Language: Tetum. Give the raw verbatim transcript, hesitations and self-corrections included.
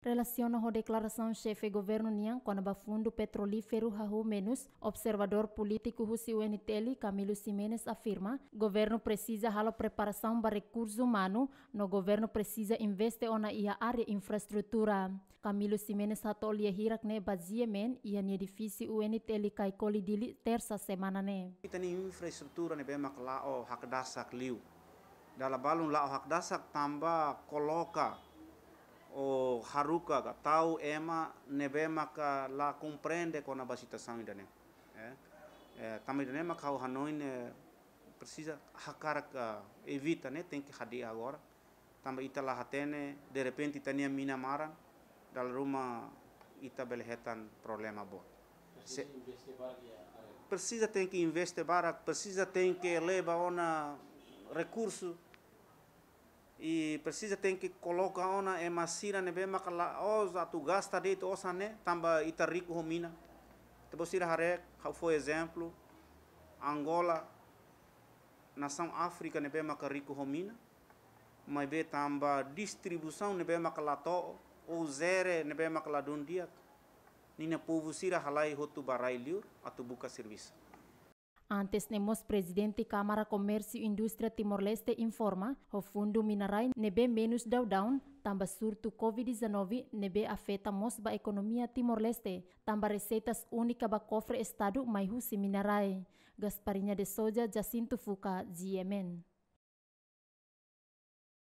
Relasiona ho deklarasaun xefe governu nian kona-ba fundu petrolíferu hahú menus, observadór polítiku husi U N T L, Camilo Ximenes, afirma governu presiza halo preparasaun ba rekursu umanu, no governu presiza investe ona iha área infraestrutura. Camilo Ximenes hato'o lia hirak ne'e ba G M N iha nia edifísiu U N T L Caicoli, Dili, Tersa semana ne'e. Ita-nia infraestrutura ne'ebé mak la'o hakdasak liu. Dala balun la'o hakdasak tanba koloka ou haruka ka tau ema ne'ebé maka la komprende kona-ba situasaun ida-ne'e. Eh, eh, tanba ida-ne'e maka ha'u hanoin, eh, presiza hakarak, eh, evita ne'e, tenke hadi'a agora. Tanba ita la hatene, derrepente ita-nia mina maran, dala ruma ita bele hetan problema boot. Se- Presiza tenke investe barak, presiza tenke leba ona rekursu, i presiza tenke koloka ona ema sira ne'ebé maka la'ós atu gasta de'it osan ne'e, tanba ita riku ho mina. Ita-boot sira haree, ha'u fó ezemplu, Angola, nasaun Áfrika ne'ebé maka riku ho mina, maibé tanba distribuisaun ne'ebé maka la to'o, ou jere ne'ebé maka ladún di'ak, ninia povu sira halai hotu ba rai-liur atu buka servisu. Antes ne'e mós Prezidente Kámara Komérsiu Indústria Timor-Leste informa, ho fundu mina-rai ne'ebé menus daudaun, tanba surtu covid dezanove ne'ebé afeta mós ba ekonomia Timor-Leste, tanba reseitas únika ba kofre Estadu mai husi mina-rai. Gasparinha de Souza, Jacinto Fuca, G M N.